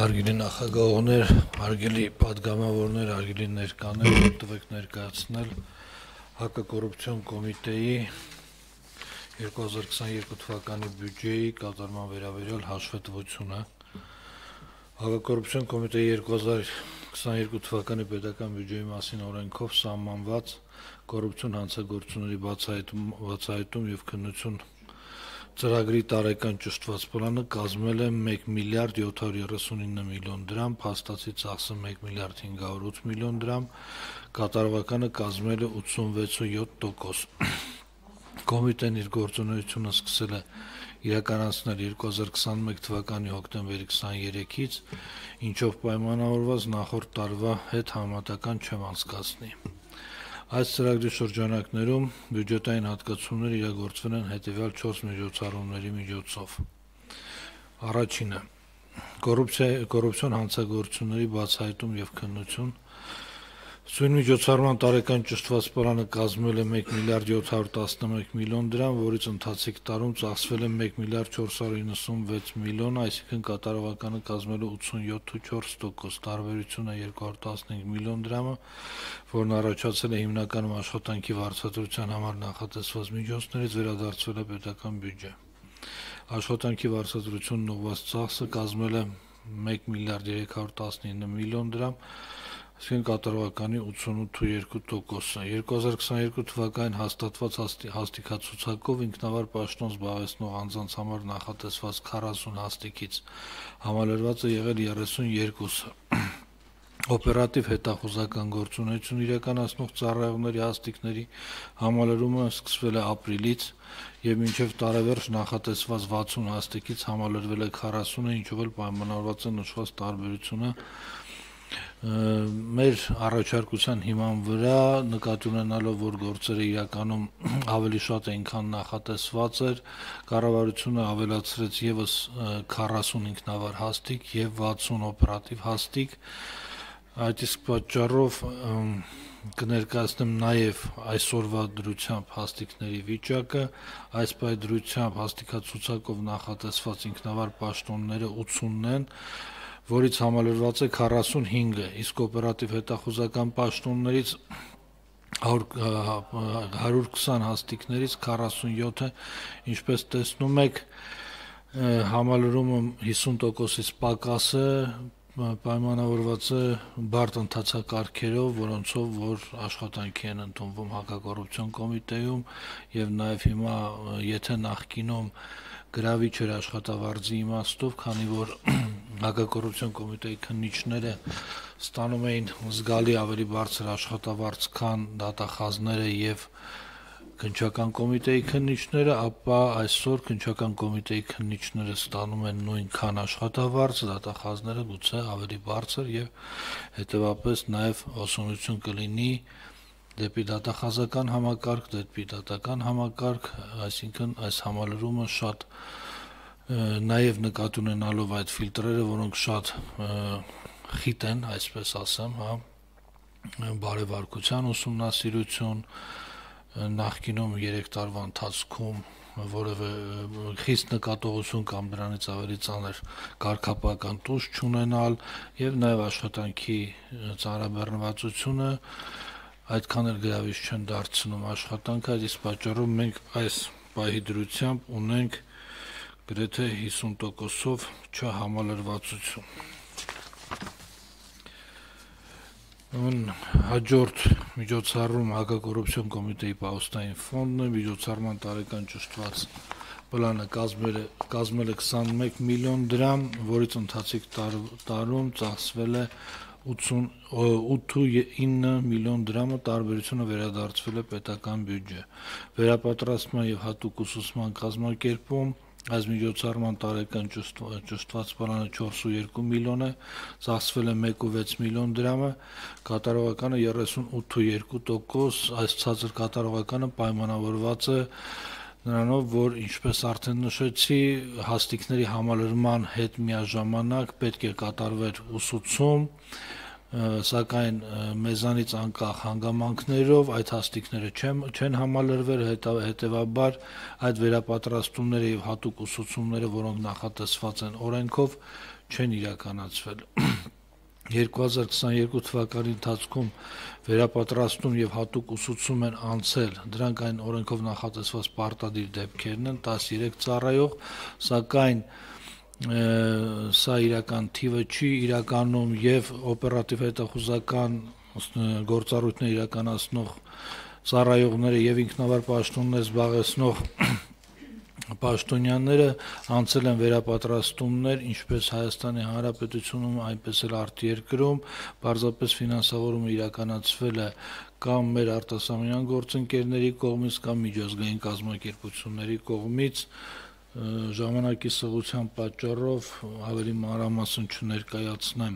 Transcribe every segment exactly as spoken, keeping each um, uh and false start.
Հարգելի նախագահողներ, հարգելի պատգամավորներ, հարգելի ներկաներ, տվեք ներկայացնել հակակոռուպցիոն կոմիտեի երկու հազար քսաներկու թվականի բյուջեի կատարման վերաբերյալ հաշվետվությունը։ Հակակոռուպցիոն կոմիտեի երկու հազար քսաներկու թվականի պետական բյուջեի մասին օրենքով սահմանված կոռուպցիոն հանցագործությունների բացահայտում եւ քննություն ծրագրի տարեկան ճշտված պլանը կազմել է մեկ միլիարդ յոթ հարյուր երեսունինը միլիոն դրամ, փաստացի ծախսը մեկ միլիարդ հինգ հարյուր ութ միլիոն դրամ, կատարողականը կազմել է ութսունվեց ու յոթ տոկոս։ Կոմիտեն իր գործունեությունը սկսել է իրականացնել երկու հազար քսանմեկ թվականի հոկտեմբերի քսաներեքից, ինչով պայմանավորված նախորդ տարվա հետ համեմատական չեմ անցկացնի։ Այս ծրագրի շրջանակներում բյուջետային հատկացումներ իրագործվել են հետևյալ չորս միջոցառումների միջոցով։ Առաջինը կոռուպցիոն հանցագործությունների բացահայտում եւ քննություն։ Սույն միջոցառման տարեկան ճշտված պլանը կազմել է մեկ միլիարդ յոթ հարյուր տասնմեկ միլիոն դրամ, որից ընթացիկ տարում ծախսվել է մեկ միլիարդ չորս հարյուր իննսունվեց միլիոն, այսինքն կատարողականը կազմել է ութսունյոթ ու չորս տոկոս, տարբերությունը երկու հարյուր տասնհինգ միլիոն դրամը, որն առաջացել է հիմնականում աշխատանքի վարձատրության համար նախատեսված միջոցներից, վերադարձվել է պետական բյուջե։ Աշխատանքի վարձատրությունն ուղղված ծախսը կազմել է մեկ միլիարդ երեք հարյուր տասնինը միլիոն դրամ, այսինքն կատարողականի ութսունութ ու երկու տոկոսը։ երկու հազար քսաներկու թվականին հաստատված հաստիքացուցակով ինքնավար պաշտոն զբաղեցնող անձանց համար նախատեսված քառասուն հաստիքից համալրված է եղել երեսունյոթը։ Օպերատիվ հետախուզական գործունեություն իրականացնող ծառայողների հաստիքների համալրումը սկսվել է ապրիլից եւ մինչեւ տարեվերջ նախատեսված վաթսուն հաստիքից համալրվել է քառասունը, ինչով էլ պայմանավորված է նշված տարբերությունը մեր առաջարկության հիման վրա, նկատի ունենալով, որ գործերը իրականում ավելի շատ են, քան նախատեսված էր, կառավարությունը ավելացրեց եւս քառասուն ինքնավար հաստիք եւ վաթսուն օպերատիվ հաստիք։ Այդ իսկ պատճառով կներկայացնեմ նաեւ այսօրվա դրությամբ հաստիքների վիճակը, այս պայդրությամբ հաստիքացուցակով նախատեսված ինքնավար պաշտոնները ութսունն են, որից համալրված է քառասունհինգը, իսկ օպերատիվ հետախուզական պաշտոններից հարյուր քսան հաստիքներից քառասունյոթը, ինչպես տեսնում եք, համալրումը հիսուն տոկոսից պակաս է, պայմանավորված է բարդ ընթացակարգերով, որոնցով որ աշխատանքի են ընդունվում հակակոռուպցիոն կոմիտեում եւ նաեւ հիմա եթե նախկինում գրավիչ էր աշխատավարձի իմաստով, քանի որ հակակոռուպցիոն կոմիտեի քննիչները ստանում էին զգալի ավելի բարձր աշխատավարձ, քան դատախազները եւ քննչական կոմիտեի քննիչները, ապա այսօր քննչական կոմիտեի քննիչները ստանում են նույնքան աշխատավարձ, դատախազները գուցե ավելի բարձր եւ հետեւաբար նաեւ ոսունություն կլինի դեպի դատախազական համակարգ, դեպի դատական համակարգ, այսինքն այս համալրումը շատ նաեւ նկատի ունենալով այդ ֆիլտրերը, որոնք շատ խիտ են, այսպես ասեմ, հա, բարեվարկության ուսումնասիրություն, նախկինում երեք տարվա ընթացքում որևէ խիստ նկատողություն կամ դրանից ավելի ծանր կարգապահական տուժ չունենալ եւ նաեւ աշխատանքի ծանրաբեռնվածությունը այդքան էլ գրավիչ չեն դարձնում աշխատանքը, այդ իսկ պատճառով մենք այս պահի դրությամբ ունենք գրեթե հիսուն տոկոսով չհամալրվածություն։ Հաջորդ միջոցառում հակակոռուպցիոն կոմիտեի պահոստային ֆոնդն է, միջոցառման տարեկան ճշտված պլանը կազմել է կազմել է քսանմեկ միլիոն դրամ, որից ընթացիկ տարում ծախսվել է ութ ու ինը միլիոն դրամը, տարբերությունը վերադարձվել է պետական բյուջե։ Վերապատրաստման եւ հատուկ ուսուցման կազմակերպում այս միջոցառման տարեկան ճշտված պլանը չորս ու երկու միլիոն է, ծախսվել է մեկ ու վեց միլիոն դրամը, կատարողականը երեսունութ ու երկու տոկոս, այս ցածր կատարողականը պայմանավորված է նրանով, որ ինչպես արդեն նշեցի, հաստիքների համալրման հետ միաժամանակ պետք է կատարվեր ուսուցում, սակայն մեզանից անկախ հանգամանքներով այդ հաստիքները չեն համալրվել, հետևաբար այդ վերապատրաստումները եւ հատուկ ուսուցումները, որոնք նախատեսված են օրենքով, չեն իրականացվել։ երկու հազար քսաներկու թվականի ընթացքում վերապատրաստում եւ հատուկ ուսուցում են անցել, դրանք այն օրենքով նախատեսված պարտադիր դեպքերն են, տասներեք ծառայող, սակայն սա իրական թիվը չի իրականում եւ օպերատիվ հետախուզական գործառույթներ իրականացնող ծառայողները եւ ինքնավար պաշտոններ զբաղեցնող պաշտոնյաները անցել են վերապատրաստումներ ինչպես Հայաստանի Հանրապետությունում, այնպես էլ արտերկրում, պարզապես ֆինանսավորումը իրականացվել է կամ մեր արտասահմանյան գործընկերների կողմից կամ միջազգային կազմակերպությունների կողմից, ժամանակի սղության պատճառով ավելի մանրամասն չներկայացնեմ։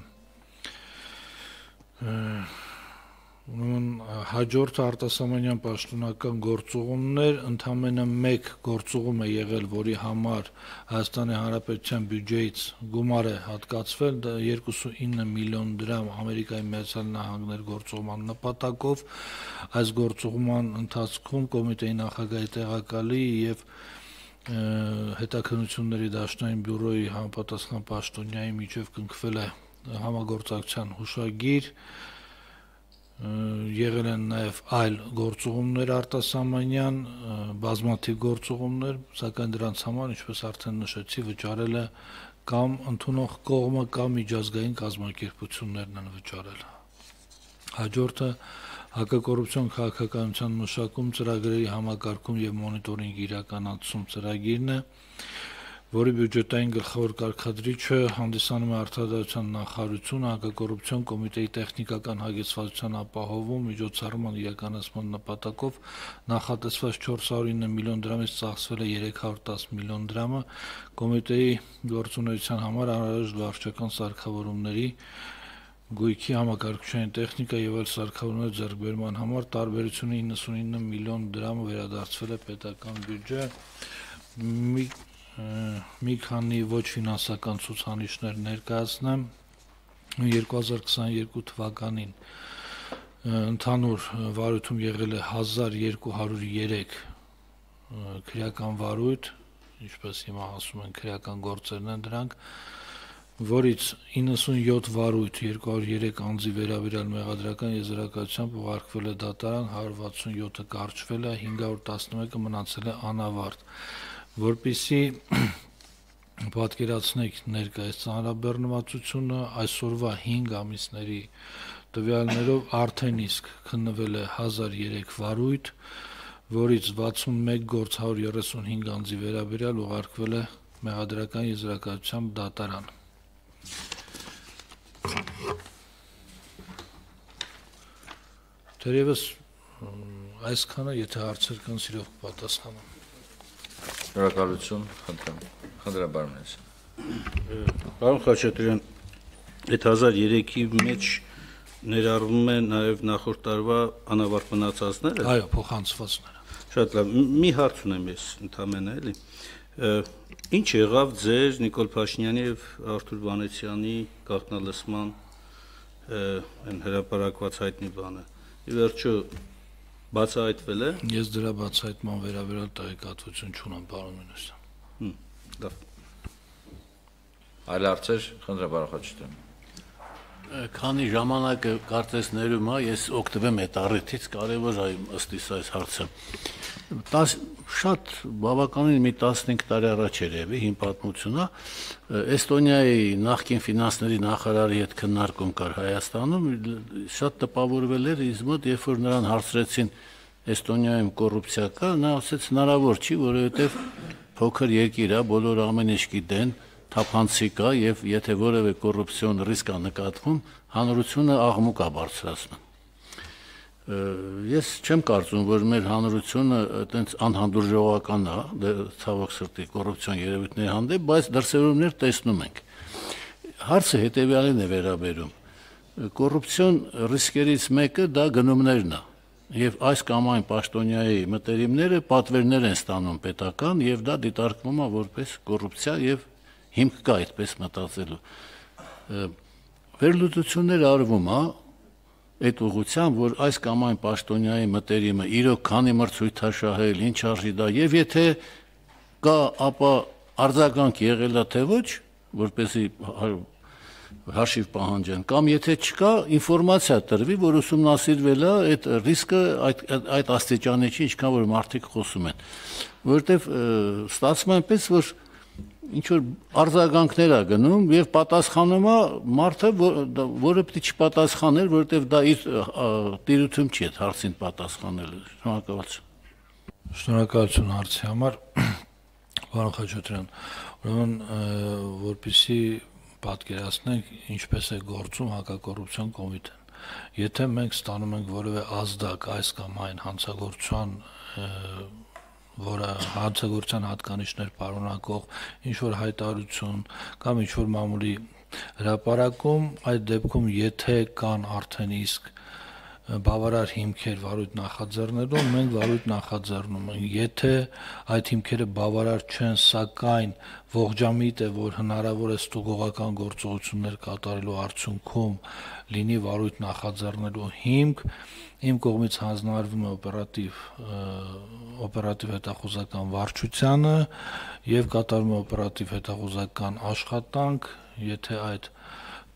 Ուրեմն հաջորդը արտասահմանյան պաշտոնական գործուղումներ, ընդամենը մեկ գործուղում է եղել, որի համար Հայաստանի Հանրապետության բյուջեից գումար է հատկացվել, դա երկուքսունինը միլիոն դրամ Ամերիկայի Միացյալ Նահանգներ գործուղման նպատակով, այս գործուղման ընթացքում կոմիտեի նախագահի տեղակալի եւ հետաքննությունների դաշնային բյուրոյի համապատասխան պաշտոնյայի միջև կնքվել է համագործակցության հուշագիր, եղել են նաև այլ գործուղումներ արտասահմանյան, բազմաթիվ գործուղումներ, սակայն դրանց համար, ինչպես արդեն նշեցի, վճարել է կամ ընդունող կողմը կամ միջազգային կազմակերպություններն են վճարել։ Հաջորդը հակակոռուպցիոն քաղաքականության մշակում ծրագրերի համակարգում եւ մոնիտորինգ իրականացում ծրագիրն է, որի բյուջետային գլխավոր կարգադրիչը հանդիսանում է Արտադրության նախարարությունը հակակոռուպցիոն կոմիտեի տեխնիկական հագեցվածության ապահովում միջոցառման իրականացման նպատակով նախատեսված չորսսունինը միլիոն դրամից ծախսվել է երեք հարյուր տասը միլիոն դրամը կոմիտեի գործունեության համար անհրաժեշտ վարչական սարքավորումների գույքի համակարգչային տեխնիկա եւ այլ սարքավորումներ ձեռքբերման համար տարբերությունը իննսունինը միլիոն դրամը վերադարձվել է պետական բյուջե։ Մի մի քանի ոչ ֆինանսական ցուցանիշներ ներկայացնեմ երկու հազար քսաներկու թվականին ընդհանուր վարույթում եղել է հազար երկու հարյուր երեք քրեական վարույթ, ինչպես հիմա ասում են քրեական գործերն են դրանք, որից իննսունյոթ վարույթ երկու հարյուր երեք անձի վերաբերյալ մեղադրական եզրակացությամբ ուղարկվել է դատարան, հարյուր վաթսունյոթը կարճվել է, հինգ հարյուր տասնմեկը մնացել է անավարտ, որպեսզի պատկերացնեք ներկայիս ծանրաբեռնվածությունը այսօրվա հինգ ամիսների տվյալներով արդեն իսկ քննվել է հազար երեք վարույթ, որից վաթսունմեկ գործ հարյուր երեսունհինգ անձի վերաբերյալ ուղարկվել է մեղադրական եզրակացությամբ դատարան։ Թերևս այսքանը, եթե հարցեր կան, սիրով կպատասխանեմ։ Շնորհակալություն, խնդրեմ, խնդրաբարմնես։ Պարոն Խաչատրյան, այդ հազար երեքի մեջ ներառվում է նաև նախորդ տարվա անավարտ մնացածները։ Այո, փոխանցվածները։ Շատ լավ, մի հարց ունեմ ես ընդամենը, էլի։ Ինչ եղավ ձեր Նիկոլ Փաշինյանի եւ Արթուր Վանեցյանի գաղտնալսման այն հրապարակված հայտնի բանը։ Ի վերջո բացահայտվել է։ Ես դրա բացահայտման վերաբերյալ տեղեկատվություն չունեմ, պարոն Մինասյան։ Հմ, լավ։ Այլ հարցեր, խնդրեմ, պարոն Խաչատրյան։ Քանի ժամանակը կարծես ներում է, ես օգտվեմ այդ առիթից, կարևոր է ըստ իս այս հարցը։ Շատ բավականին մի տասնհինգ տարի առաջ էր եղել հին պատմությունը, Էստոնիայի նախկին ֆինանսների նախարարի հետ քննարկում կար Հայաստանում, շատ տպավորվել էր ինձ մոտ, երբ որ նրան հարցրեցին Էստոնիայում կոռուպցիա կա, նա ասաց հնարավոր չի, որովհետև փոքր երկիր է, բոլորը ամեն ինչ գիտեն, թափանցիկ է եւ եթե որևէ կոռուպցիոն ռիսկ է նկատվում, հանրությունը աղմուկ է բարձրացնում։ Ես չեմ կարծում, որ մեր հանրությունը այտենց անհանդուրժողական է, ցավոք սրտի կոռուպցիոն երևույթների հանդեպ, բայց դրսևորումներ տեսնում ենք։ Հարցը հետեւյալին է վերաբերում։ Կոռուպցիոն ռիսկերից մեկը դա գնումներն է։ Եվ այս կամ այն պաշտոնյայի մտերիմները պատվերներ են ստանում պետական եւ դա դիտարկվում է որպես կոռուպցիա եւ հիմք կա այդպես մտածելու։ Վերլուծություններ արվում է այդ ուղղությամբ, որ այս կամ այն պաշտոնյայի մտերիմը իրոք քանի մրցույթ է շահել, ինչ արժի դա, եւ եթե կա, ապա արձագանք եղել է թե ոչ, որպեսզի հաշիվ պահանջեն, կամ եթե չկա, ինֆորմացիա տրվի, որ ուսումնասիրվել է այդ ռիսկը այդ այդ աստիճանի չի, ինչքան որ մարդիկ խոսում են, որովհետև ստացվում է այնպես, որ ինչ որ արձագանքներ է գնում եւ պատասխանում է մարդը, որը պետք է չպատասխաներ, որովհետև դա իր տիրույթում չի այդ հարցին պատասխանելը։ Շնորհակալություն։ Շնորհակալություն հարցի համար, պարոն Խաչատրյան, ուրեմն որպեսզի պատկերացնենք ինչպես է գործում հակակոռուպցիոն կոմիտեն։ Եթե մենք ստանում ենք որևէ ազդակ այս կամ այն հանցագործության, որը հանցագործության հատկանիշներ պարունակող ինչ որ հայտարարություն կամ ինչ որ մամուլի հրապարակում, այդ դեպքում եթե կան արդեն իսկ բավարար հիմքեր վարույթ նախաձեռնելու, մենք վարույթ նախաձեռնում ենք։ Եթե այդ հիմքերը բավարար չեն, սակայն ողջամիտ է, որ հնարավոր է ստուգողական գործողություններ կատարելու արդյունքում լինի վարույթ նախաձեռնելու հիմք, իմ կողմից հանձնարարվում է օպերատիվ օպերատիվ հետախուզական վարչությանը եւ կատարվում է օպերատիվ հետախուզական աշխատանք, եթե այդ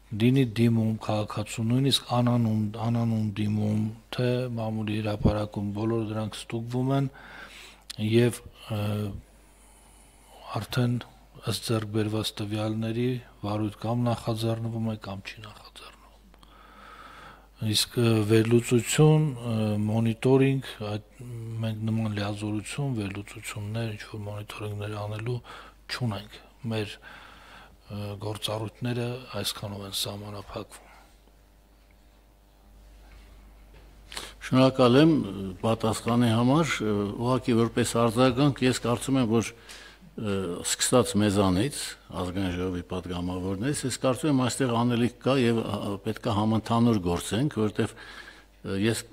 դինի դիմում քաղաքացու նույնիսկ անանուն անանուն դիմում թե մամուլի հրապարակում բոլոր դրանք ստուգվում են եւ արդեն ըստ ձեռք բերված տվյալների վարույթ կամ նախաձեռնվում է կամ չի նախաձեռնվում։ Իսկ վերլուծություն, մոնիտորինգ, այդ մենք նման լիազորություն, վերլուծություններ, ինչ որ մոնիտորինգներ անելու չունենք։ Մեր գործառույթները այսքանով են սահմանափակվում։ Շնորհակալ եմ պատասխանի համար, ուղղակի որպես արձագանք ես կարծում եմ, որ սկսած մեզանից, ազգային ժողովի պատգամավորներից, ես կարծում եմ այստեղ անելիք կա եւ պետք է համընդհանուր գործենք, որովհետեւ ես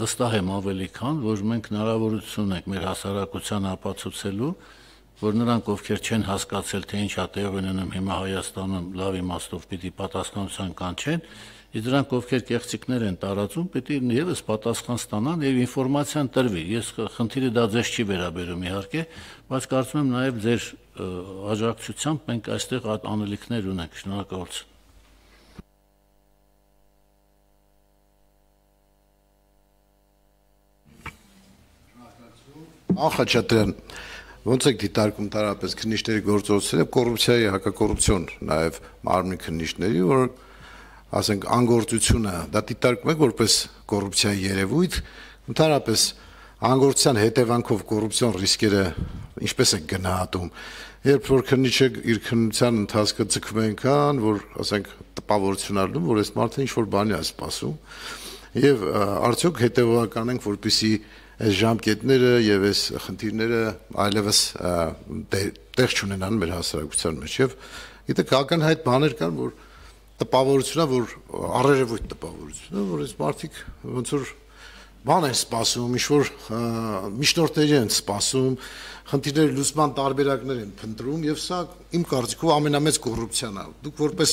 վստահ եմ ավելի քան, որ մենք հնարավորություն ունենք մեր հասարակության ապացուցելու, որ նրանք, ովքեր չեն հասկացել, թե ինչ է տեղի ունենում հիմա Հայաստանում, լավ իմաստով պիտի պատասխանատվության կանչեն, իսկ դրանք, ովքեր կեղծիքներ են տարածում, պիտի եւս պատասխան ստանան եւ ինֆորմացիան տրվի։ Ես խնդիրը դա ձեզ չի վերաբերում իհարկե, բայց կարծում եմ նաեւ ձեր աջակցությամբ մենք այստեղ այդ անելիքներ ունենք։ Շնորհակալություն։ Ախաչատրյան, ոնց եք դիտարկում տարապես քննիչների գործողությունները, կոռուպցիայի, հակակոռուպցիոն նաև մարմնի քննիչների, որ ասենք անգործությունը, դա դիտարկում եք որպես կոռուպցիայի երևույթ, ընդհանրապես անգործության հետևանքով կոռուպցիոն ռիսկերը ինչպես եք գնահատում, երբ որ քննիչը իր քննության ընթացքը ձգվում է այնքան, որ ասենք տպավորություն առնում, որ այս մարդը ինչ որ բանի է սպասում, եւ արդյոք հետեւական ենք, որպեսզի այս ժամկետները եւ այս խնդիրները այլևս տեղ չունենան մեր հասարակության մեջ եւ գիտեք ակնհայտ բաներ կան, որ տպավորությունա, որ առերևույթ տպավորությունա, որ այս մարդիկ ոնց որ բան են սպասում, ինչ որ միջնորդների են սպասում, խնդիրների լուծման տարբերակներ են փնտրում եւ սա իմ կարծիքով ամենամեծ կոռուպցիան է։ Դուք որպես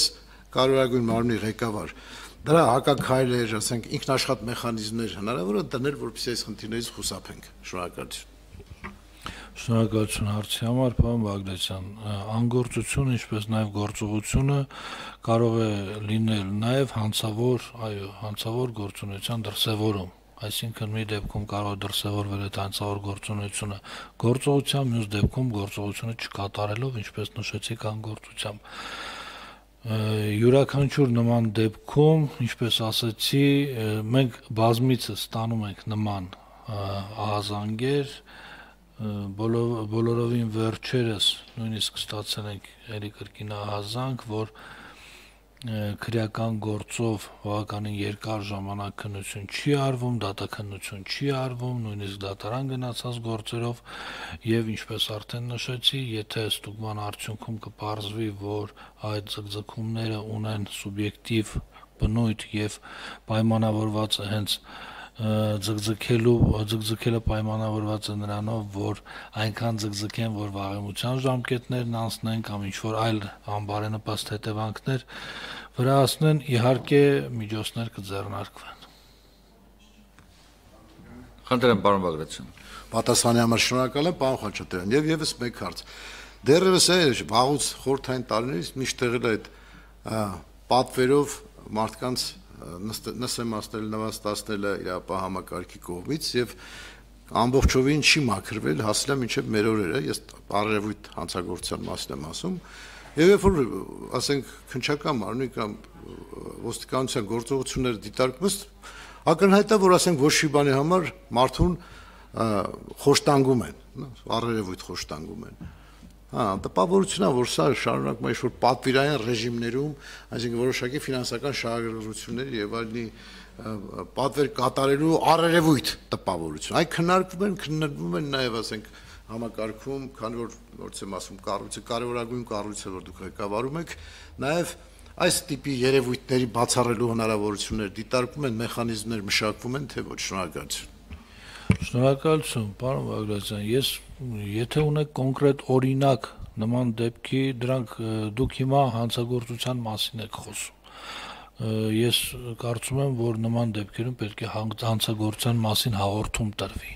կարևորագույն մարմնի ղեկավար դրա հակաքայլեր, ասենք ինքնաշխատ մեխանիզմներ հնարավոր է դնել, որպեսզի այս խնդիրներից խուսափենք։ Շնորհակալություն։ Շնորհակալություն հարցի համար, պարոն Բաղդասարյան։ Անգործությունը, ինչպես նաև գործողությունը կարող է լինել նաև հանցավոր, այո, հանցավոր գործունեության դրսևորում։ Այսինքն մի դեպքում կարող է դրսևորվել այդ հանցավոր գործունեությունը գործողությամբ, մյուս դեպքում գործողությունը չկատարելով, ինչպես նշեցիք, անգործությամբ։ Յուրաքանչյուր նման դեպքում, ինչպես ասացի, մենք բազմիցս ստանում ենք նման ահազանգեր, բոլորովին վերջերս նույնիսկ ստացել ենք էլի կրկին ահազանգ, որ քրեական գործով բավականին երկար ժամանակ քննություն չի արվում, դատաքննություն չի արվում, նույնիսկ դատարան գնացած գործերով եւ ինչպես արդեն նշեցի, եթե ստուգման արդյունքում կպարզվի, որ այդ ձգձգումները ունեն սուբյեկտիվ բնույթ եւ պայմանավորված է հենց ձգձգելու ձգձգելը պայմանավորված է նրանով, որ այնքան ձգձգեն, որ վաղեմության ժամկետներն անցնեն կամ ինչ որ այլ անբարենպաստ հետևանքներ վրացնեն, իհարկե միջոցներ կձեռնարկվեն։ Խնդրեմ, պարոն Բաղդասարյան։ Պատասխանի համար շնորհակալ եմ, պարոն Խաչատրյան, եւ եւս մեկ հարց։ Դեռևս է վաղուց խորհրդային տարիներից միշտ եղել է այդ պատվերով մարդկանց նսեմացնել, նվաստացնելը իրապահ համակարգի կողմից եւ ամբողջովին չի մաքրվել հասնելա մինչեւ մեր օրերը, ես առերևույթ հանցագործության մասին եմ ասում, եւ երբ որ ասենք քննչական մարմնի կամ ոստիկանության գործողությունները դիտարկվում, ակնհայտ է, որ ասենք ոչ մի բանի համար մարդուն խոշտանգում են, առերևույթ խոշտանգում են։ Հա, տպավորությունն է, որ սա շարունակում է ինչ-որ պատվիրային ռեժիմներում, այսինքն որոշակի ֆինանսական շահագրգռությունների եւ այլնի պատվեր կատարելու առերևույթ տպավորություն։ Այն քննարկվում են, քննարկվում են նաեւ, ասենք, համակարգում, քանի որ ոնց եմ ասում, կառույցը կարևորագույն կառույց է, որ դուք ղեկավարում եք, նաեւ այս տիպի երևույթների բացառելու հնարավորություններ դիտարկվում են, մեխանիզմներ մշակվում են, թե ոչ։ Շնորհակալություն։ Շնորհակալություն, պարոն Բագրատյան, ես եթե ունեք կոնկրետ օրինակ նման դեպքի, դրանք դուք հիմա հանցագործության մասին եք խոսում։ Ես կարծում եմ, որ նման դեպքերում պետք է հանցագործության մասին հաղորդում տրվի։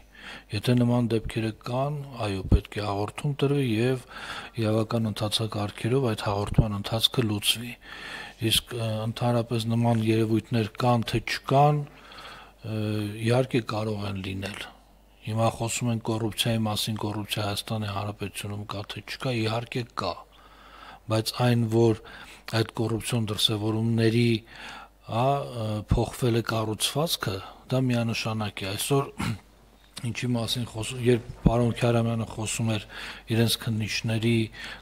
Եթե նման դեպքերը կան, այո, պետք է հաղորդում տրվի եւ իրավական ընթացակարգերով այդ հաղորդման ընթացքը լուծվի։ Իսկ ընդհանրապես նման երևույթներ կան թե չկան, իհարկե կարող են լինել։ Հիմա խոսում են կոռուպցիայի մասին, կոռուպցիա Հայաստանի Հանրապետությունում կա թե չկա, իհարկե կա, բայց այն, որ այդ կոռուպցիոն դրսևորումների, հա, փոխվել է կառուցվածքը, դա միանշանակ է։ Այսօր ինչի մասին խոսում, երբ պարոն Քյարամյանը խոսում էր իրենց քննիչների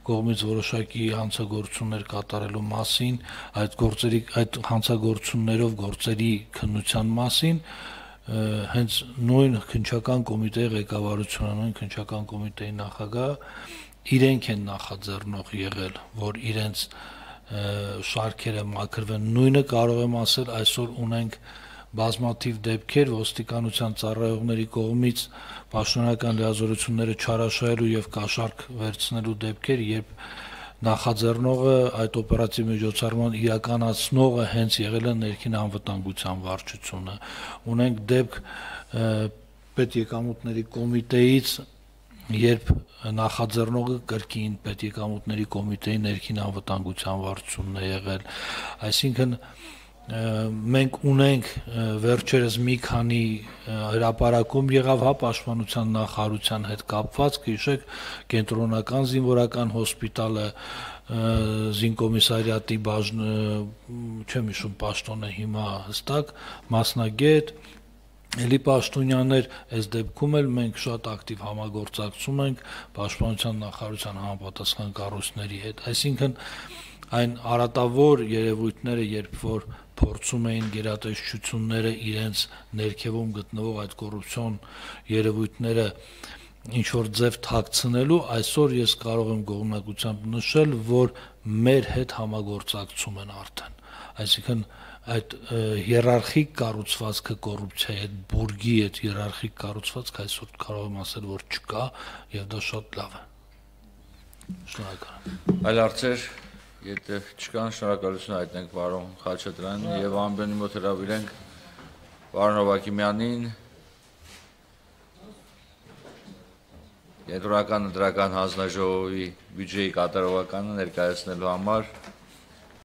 կողմից որոշակի հանցագործություններ կատարելու մասին, այդ գործերի, այդ հանցագործություններով գործերի քննության մասին, հենց նույն քննչական կոմիտեի ղեկավարությունը, նույն քննչական կոմիտեի նախագահը իրենք են նախաձեռնող եղել, որ իրենց շարքերը մաքրվեն։ Նույնը կարող եմ ասել, այսօր ունենք բազմաթիվ դեպքեր ոստիկանության ծառայողների կողմից պաշտոնական լիազորությունները չարաշահելու եւ կաշառք վերցնելու դեպքեր, երբ նախաձեռնողը այդ օպերատիվ միջոցառման իրականացնողը հենց եղել է ներքին անվտանգության վարչությունը։ Ունենք դեպք պետեկամուտների կոմիտեից, երբ նախաձեռնողը կրկին պետեկամուտների կոմիտեի ներքին անվտանգության վարչությունն է եղել։ Այսինքն մենք ունենք վերջերս մի քանի հրապարակում եղավ, հա, պաշտպանության նախարարության հետ կապված, կհիշեք, կենտրոնական զինվորական հոսպիտալը, զինկոմիսարիատի բաժն, չեմ հիշում պաշտոնը հիմա հստակ, մասնագետ, Էլի Պաշտոնյաններ, այս դեպքում էլ մենք շատ ակտիվ համագործակցում ենք պաշտպանության նախարարության համապատասխան կառույցների հետ։ Այսինքն այն արատավոր երևույթները, երբ որ փորձում էին գերատեսչությունները իրենց ներքևում գտնվող այդ կոռուպցիոն երևույթները ինչ որ ձև թաքցնելու, այսօր ես կարող եմ գոհունակությամբ նշել, որ մեր հետ համագործակցում են արդեն։ Այսինքն այդ հիերարխիկ կառուցվածքը կոռուպցիայի հետ, բուրգի այդ հիերարխիկ կառուցվածքը այսօր կարող եմ ասել, որ չկա եւ դա շատ լավ է։ Շնորհակալ եմ։ Այլ հարցեր, եթե չկան, շնորհակալություն հայտնենք պարոն Խաչատրյանին եւ ամբյոնի մոտ հրավիրենք պարոն Հովակիմյանին, Կենտրոնական ընտրական հանձնաժողովի բյուջեի կատարողականը ներկայացնելու համար։